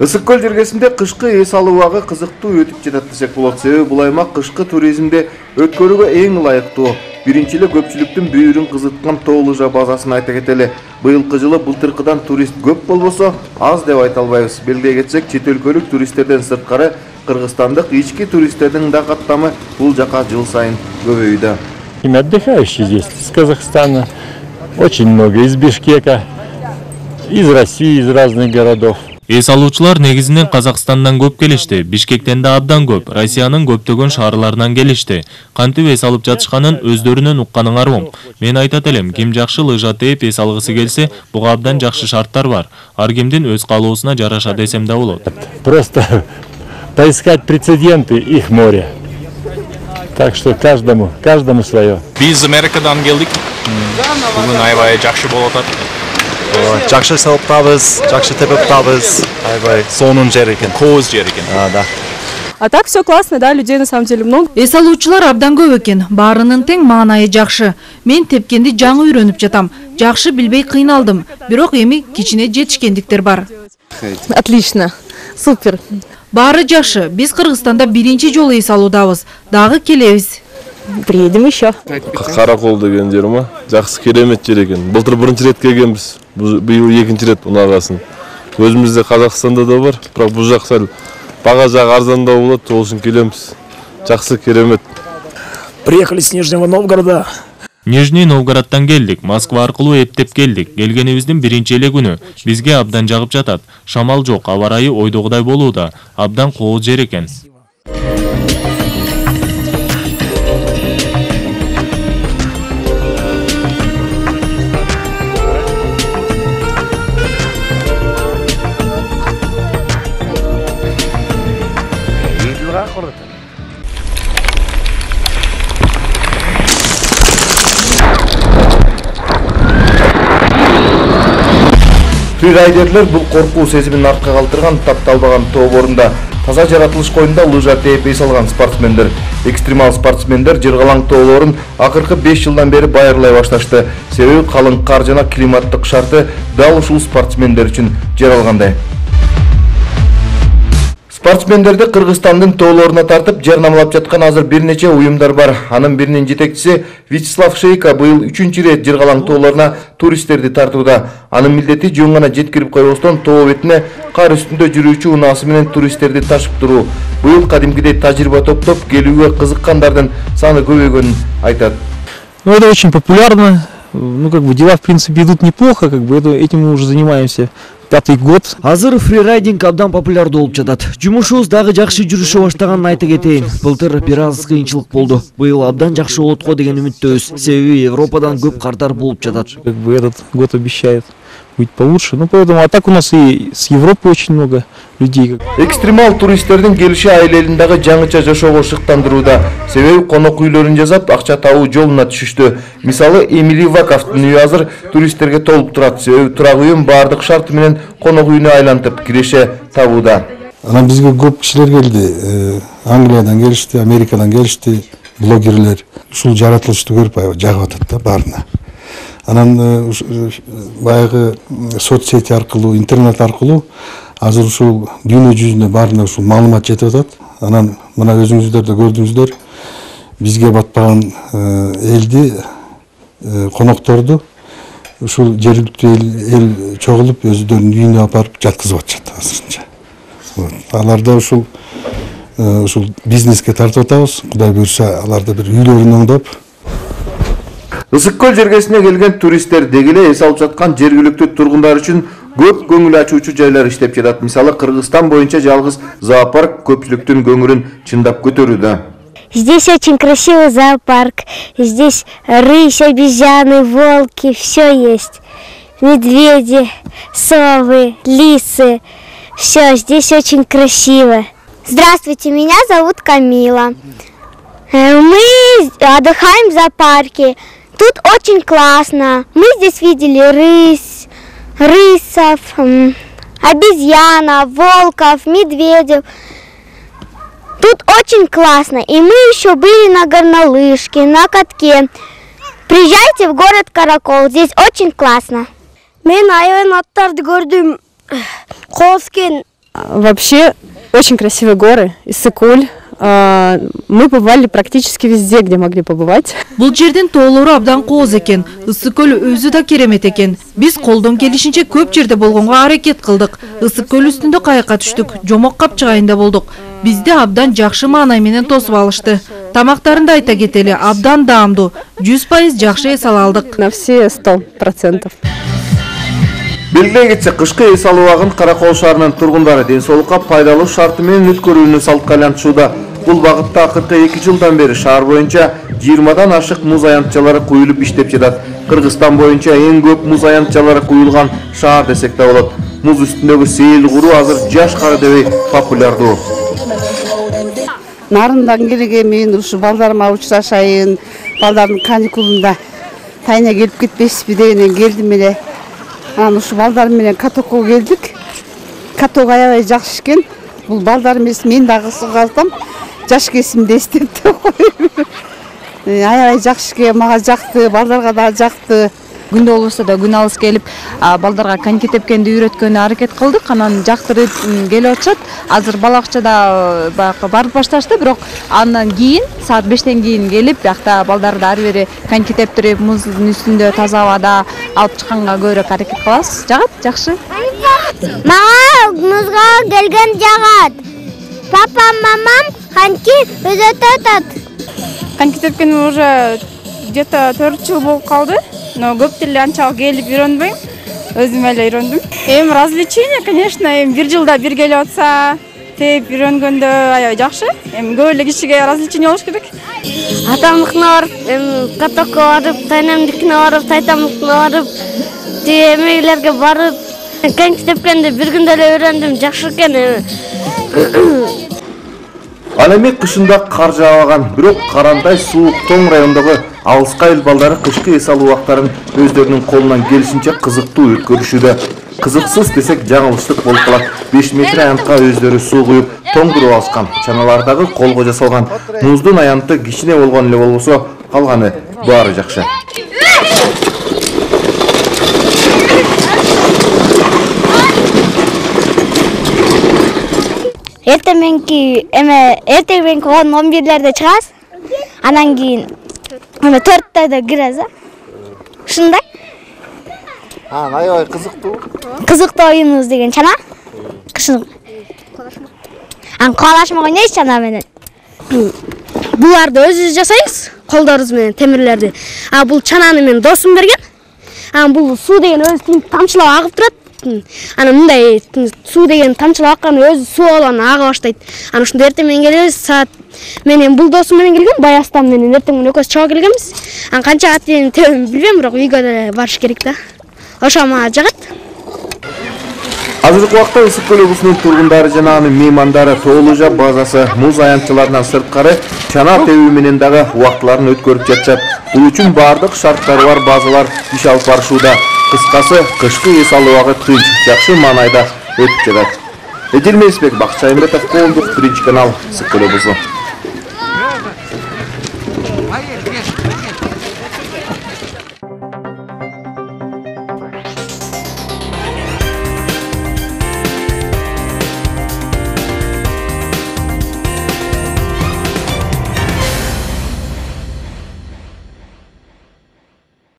Ысык көл жергесинде кышкы эс алуу убагы кызыктуу өтүп жатат десек болот. Себеби бул аймак кышкы туризмде өткөрүүгө эң ылайыктуу. Биринчи эле көпчүлүктүн бүйүрүн кызыткан Тоо лыжа базасын айта кетели. Быйылкы жылы былтыркыдан турист көп болбосо, аз деп айта албайбыз. Белгилей кетсек, чет өлкөлүк туристтерден сырткары кыргызстандык ички туристтердин да каттамы бул жака жыл сайын көбөйүүдө. Отдыхающие здесь с Казахстана очень много, из Бишкека, из России, из разных городов. Эс алуучулар негизинен Казакстандан көп келишти, Бишкектен да абдан көп, Россиянын көптөгөн шаарларынан келишти. Кантип эс алып жатышканын өздөрүнөн укканыңар оң. Мен айтат элем, ким жакшы лыжа тээп эс алгысы келсе, буга абдан жакшы шарттар бар. Ар кимдин өз каалоосуна жараша десем да болот. Просто поискать прецеденты, их море. Так что каждому свое. Биз Америкадан келдик. Бүгүн аябай жакшы болуп атат. Жакшы салып табыз, жакшы тепип табыз. Аябай сонун жер экен. Кооз жер экен. Да. А так все классно, да, людей на самом деле много. Эс алуучулар абдан көп экен. Баарынын тең маанайы жакшы. Мен тепкенди жаңы үйрөнүп жатам. Жакшы билбей кыйналдым. Бирок эми кичине жетишкендиктер бар. Отлично. Супер. Баары жакшы. Биз Кыргызстанда биринчи жолу эс алуудабыз. Дагы келебиз. Приедем еще. Каракол деген жерме? Жакшы керемет жер экен. Былтыр биринчи рет келгенбиз. Быйыл экинчи рет унаагасын. Өзүбүздө Казакстанда да бар, бирок бул жак сал бага жагы арзандоо болот, ошол үчүн келебиз. Жакшы керемет. Приехали с Нижнего Новгорода. Нижний Новгородтан келдик, Москва аркылуу эптеп келдик. Келгенибиздин биринчи эле күнү. Бизге абдан жагып жатат. Шамал жок, аба ырайы ойдогудай болууда. Абдан кооз жер экен. Фрирайдерлер бул коркуу сезимин артка калтырган тапталбаган тоо борунда таза жаратылыш коюнда лыжа тээп эс алган спортсмендер. Экстремал спортсмендер Жыргалаң тоолорун акыркы 5 жылдан бери байырлай башташты. Себеби калың кар жана климаттык шарты дал ушул спортсмендер үчүн жаралгандай. Спортсмендерди Кыргызстандын тоолоруна тартып жарнамалап жаткан азыр бир нече уюмдар бар. Анын биринин жетекчиси Вячеслав Шейко быйыл 3-чү рет Жыргалаң тоолоруна туристтерди тартууда. Анын милдети жөн гана жеткирип койбостон тоо бетине кар үстүндө жүрүүчү унаасы менен туристтерди ташып туруу. Быйыл кадимкидей тажрыйба топтоп келүүгө кызыккандардын саны көбөйгөнүн айтат. Это очень популярно. Дела в принципе идут неплохо, этим мы уже занимаемся 5-й год. Азыр фрирайдинг абдан популярдуу болуп жатат. Жумушубуз дагы жакшы жүрүшө баштаганын айта кетейин. Былтыр бир аз кыйынчылык болду. Быйыл абдан жакшы болот го деген үмүттөбүз. Себеби Европадан көп кардар болуп жатат. Этот год обещает быть получше. Поэтому а так у нас и с Европы очень много людей. Экстремал туристтердин келиши айлелин дагы жаңыча жашоого шыктандырууда. Себеби конок үйлөрүн жасап, акча табуу жолуна түшүштү. Мисалы, Эмили Ваковдун үйү азыр туристтерге толуп турат. Себеби турак үйүн баардык шарты менен конок үйүнө айлантып киреше табууда. Анан бизге көп кишилер келди. Англиядан келишти, Америкадан келишти, блогерлер. Ушул жаратылышты көрүп аябай жагып атат да баарына. Анан баягы соцсети аркылуу, интернет аркылуу азыр ушул дүйнө жүзүнө баарына ушул маалымат жетип атат. Анан мына өзүңүздөр да көрдүңүздөр, бизге батпаган элди, конокторду ушул жергиликтүү эл чогулуп өздөрүнүн үйүнө алып барып жаткызып атышат азырынча. Аларда ушул бизнеске тартып атабыз. Кудай буйрса, аларда бир үйлөрүн оңдоп. Ысык көл жергесине келген туристтер дегеле эс алып жаткан жергиликтүү тургундар үчүн көп көңүл ачуучу жайлар иштеп жатат. Мисалы, Кыргызстан боюнча жалгыз зоопарк көпчүлүктүн көңүлүн чындап көтөрүүдө. Здесь очень красивый зоопарк. Здесь рысь, обезьяны, волки, все есть. Медведи, совы, лисы. Все, здесь очень красиво. Здравствуйте, меня зовут Камила. Мы отдыхаем в зоопарке. Тут очень классно. Мы здесь видели рысов, обезьянов, волков, медведев. Тут очень классно. И мы еще были на горнолыжке, на катке. Приезжайте в город Каракол. Здесь очень классно. Мен аябай аттарды көрдүм. Кооскен Вообще очень красивые горы, Иссык-Куль. Мы побывали практически везде, где могли побывать. Бул жердин тоолору абдан кооз экен. Иссык-Көл өзү да керемет экен. Биз колдон келишинче көп жерде болгонго аракет кылдык. Иссык-Көл үстүндө кайыкка түштүк, жомок капчыгайында болдук. Бизди абдан жакшы маанай менен тосуп алышты. Тамактарын да айта кетели, абдан даамдуу. 100% жакшы эс ала алдык. На все 100%. Белгилей кетсек, кышкы эс алуу убагын Каракол шаарынын тургундары ден соолукка пайдалуу шарты менен өткөрүүнү салтка айлантышууда. Бул багытта акыркы 2 жылдан бери шаар боюнча 20дан ашык муз аянтчалары куюлуп иштеп жатат. Кыргызстан боюнча эң көп муз аянтчалары куюлган шаар десек да болот. Муз үстүндөгү сейил куруу азыр жаш кары дебей популярдуу. Нарындан келген мен ушу балдарыма учурашайын, балдардын каникулунда тайына келип кетпесизби дегенден келдим эле. Анан ушу балдарым менен катокко келдик. Каток аябай жакшы экен. Бул балдар эмес, мен дагы кызыгам. Жаш кезимде эстепти койм. Аябай жакшы экен, мага жакты, балдарга да жакты. Күндө болбосо да күн алыс келип, балдарга коньки тепкенди үйрөткөнгө аракет кылдык. Анан жактырып келип атышат. Азыр балакчада барып башташты, бирок андан кийин саат 5тен кийин келип, биякта балдарды ары бери коньки тептирип, муздун үстүндө таза абада алып чыкканга көбүрөөк аракет кылабыз. Жагат, жакшы. Мага музга келген жагат. Папам, мамам коньки өзөтөт. Коньки тепкениме уже где-то 4 жыл болуп калды. Но көп деле анча келип үйрөнбөйм. Өзүм эле үйрөндүм. Развлечение, конечно, 1 жылда бир келип атса, теп үйрөнгөндө аябай жакшы. Көп эле кишиге развлечение болуш керек. Атамдыкына барып, катокко барып, тайнамдыкына барып, тайтамдыкына барып, эмелерге барып, коньки тепкенди бир күндө эле үйрөндүм. Жакшы экен. Ал эми кышында кар жаабаган, бирок карандай суук тоң райондогу алыска эл балдары кышкы эс алуу убактарын өздөрүнүн колунан келишинче кызыктуу өткөрүшүүдө. Кызыксыз десек жаңылыштык болуп калат. 5 метр аянтка өздөрү суу куюп, тоңдуруп алышкан. Чаналардагы колго жасалган муздун аянты кичине болгон эле болбосо, калганы баары жакшы. Эртеменки 11-лерде чыгабыз. Анан кийин 4-тайда киребиз. Ушундай. Аябай кызыктуу. Кызыктуу оюнубуз деген чана. Кышын. Каалашмак ойнойбуз чана менен. Буларды өзүбүз жасайбыз, колдорубуз менен темирлерди. Бул чананы мен досум берген. Бул суу деген өзү тамчылап агып турат. Анан мындай суу деген тамчылап аккан өзү суу алган ага баштайт. Анан ушунда эртең менен келебиз, саат менен бул досум менен келген, Баястан менен эртең менен экөөбүз чыга келгенбиз. Канчага тийин тебем билбейм, бирок үйгө да барыш керек да. Ошо мага жагат. Азыркы убакта Иссык-Көл облусунун тургундары жана анын меймандары Тоолужа базасы муз аянтчыларынан сырткары чана тебүү менен дагы убактыларын өткөрүп жатышат. Бул үчүн бардык шарттары бар базалар иш алып барышууда. Кыскасы, кышкы эс алуу убагы тынч, жакшы маанайда өтүп жатат. Эдил Месбек, Бакчы Аймбетов, Коомдук, 1 канал, Иссык-Көл облусу.